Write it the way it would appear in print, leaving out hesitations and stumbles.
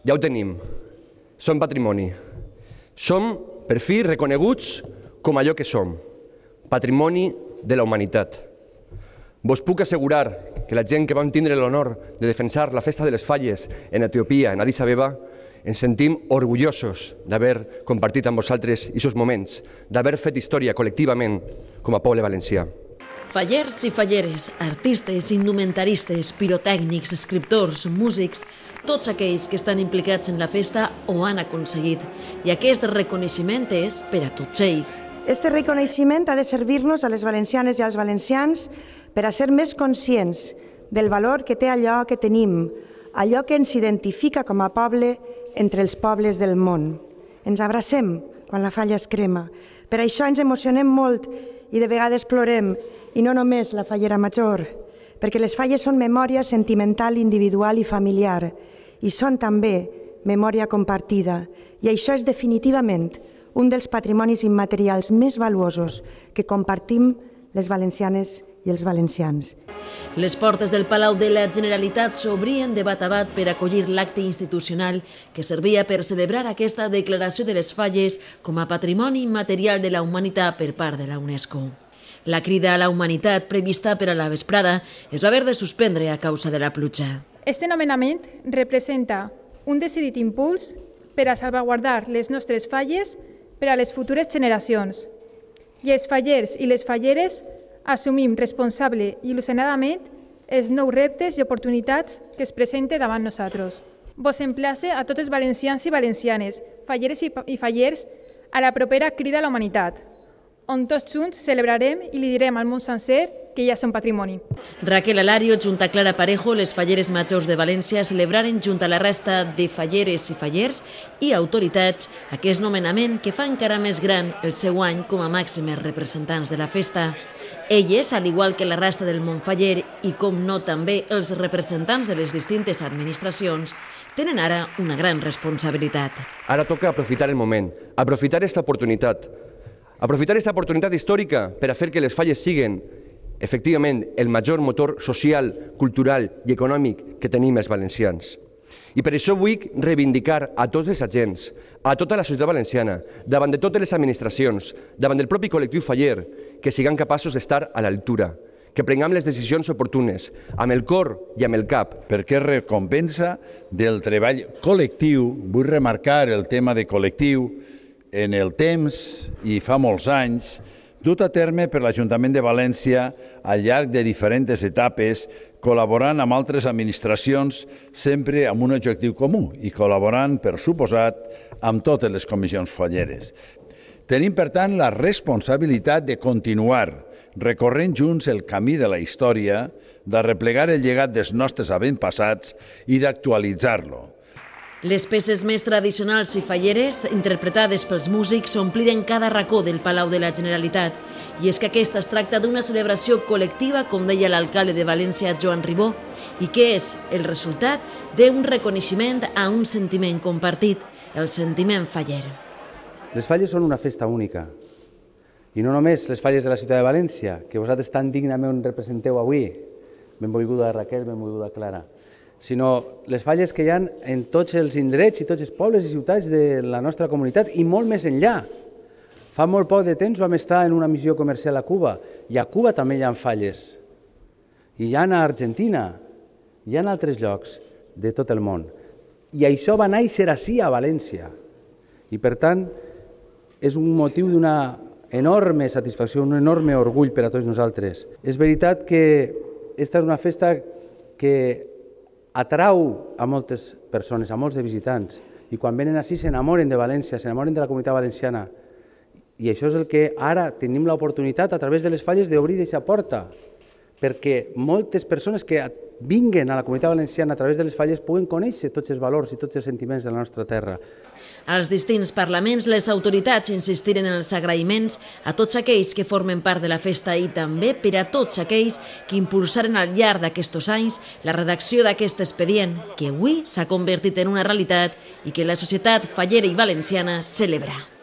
Ja ho tenim. Som patrimoni. Som, per fi, reconeguts com allò que som, patrimoni de la humanitat. Vos puc assegurar que la gent que vam tindre l'honor de defensar la festa de les falles en Etiòpia, en Addis Abeba, ens sentim orgullosos d'haver compartit amb vosaltres aquests moments, d'haver fet història col·lectivament com a poble valencià. Fallers i falleres, artistes, indumentaristes, pirotècnics, escriptors, músics, tots aquells que estan implicats en la festa ho han aconseguit. I aquest reconeixement és per a tots ells. Este reconeixement ha de servir-nos a les valencianes i als valencians per a ser més conscients del valor que té allò que tenim, allò que ens identifica com a poble entre els pobles del món. Ens abracem quan la falla es crema. Per això ens emocionem molt i de vegades plorem, i no només la fallera major, perquè les falles són memòria sentimental, individual i familiar, i són també memòria compartida. I això és definitivament un dels patrimonis immaterials més valuosos que compartim les valencianes i els valencians. Les portes del Palau de la Generalitat s'obrien de bat a bat per acollir l'acte institucional que servia per celebrar aquesta declaració de les falles com a patrimoni immaterial de la humanitat per part de la UNESCO. La crida a la humanitat prevista per a la vesprada es va haver de suspendre a causa de la pluja. Este nomenament representa un decidit impuls per a salvaguardar les nostres falles per a les futures generacions. I els fallers i les falleres assumim responsable i il·lusionadament els nous reptes i oportunitats que es presenten davant nosaltres. Vos emplace a tots els valencians i valencianes, falleres i fallers, a la propera crida a la humanitat, on tots junts celebrarem i li direm al món sencer que ja són patrimoni. Raquel Alario, junt a Clara Parejo, les falleres majors de València, celebraren junt a la resta de falleres i fallers i autoritats aquest nomenament que fa encara més gran el seu any com a màximes representants de la festa. Elles, al igual que la resta del món faller i, com no, també els representants de les distintes administracions, tenen ara una gran responsabilitat. Ara toca aprofitar el moment, aprofitar aquesta oportunitat històrica per a fer que les falles siguin, efectivament, el major motor social, cultural i econòmic que tenim els valencians. I per això vull reivindicar a tots els agents, a tota la societat valenciana, davant de totes les administracions, davant del propi col·lectiu faller, que siguem capaços d'estar a l'altura, que prenguem les decisions oportunes, amb el cor i amb el cap. Perquè és recompensa del treball col·lectiu, vull remarcar el tema de col·lectiu, en el temps i fa molts anys, dut a terme per l'Ajuntament de València al llarg de diferents etapes, col·laborant amb altres administracions sempre amb un objectiu comú i col·laborant, per suposat, amb totes les comissions falleres. Tenim, per tant, la responsabilitat de continuar recorrent junts el camí de la història, de replegar el llegat dels nostres avantpassats i d'actualitzar-lo. Les peces més tradicionals i falleres, interpretades pels músics, ompliren cada racó del Palau de la Generalitat. I és que aquesta es tracta d'una celebració col·lectiva, com deia l'alcalde de València, Joan Ribó, i que és el resultat d'un reconeixement a un sentiment compartit, el sentiment faller. Les falles són una festa única. I no només les falles de la ciutat de València, que vosaltres tan dignament representeu avui, benvolguda Raquel, benvolguda Clara, sinó les falles que hi ha en tots els indrets i tots els pobles i ciutats de la nostra comunitat i molt més enllà. Fa molt poc de temps vam estar en una missió comercial a Cuba i a Cuba també hi ha falles. I hi ha a Argentina, hi ha altres llocs de tot el món. I això va néixer ací a València. I per tant és un motiu d'una enorme satisfacció, un enorme orgull per a tots nosaltres. És veritat que aquesta és una festa que atrau a moltes persones, a molts de visitants, i quan venen així s'enamoren de València, s'enamoren de la comunitat valenciana. I això és el que ara tenim l'oportunitat a través de les falles d'obrir aquesta porta, perquè moltes persones que vinguen a la comunitat valenciana a través de les falles puguen conèixer tots els valors i tots els sentiments de la nostra terra. Als distints parlaments, les autoritats insistiren en els agraïments a tots aquells que formen part de la festa i també per a tots aquells que impulsaren al llarg d'aquests anys la redacció d'aquest expedient, que avui s'ha convertit en una realitat i que la societat fallera i valenciana celebra.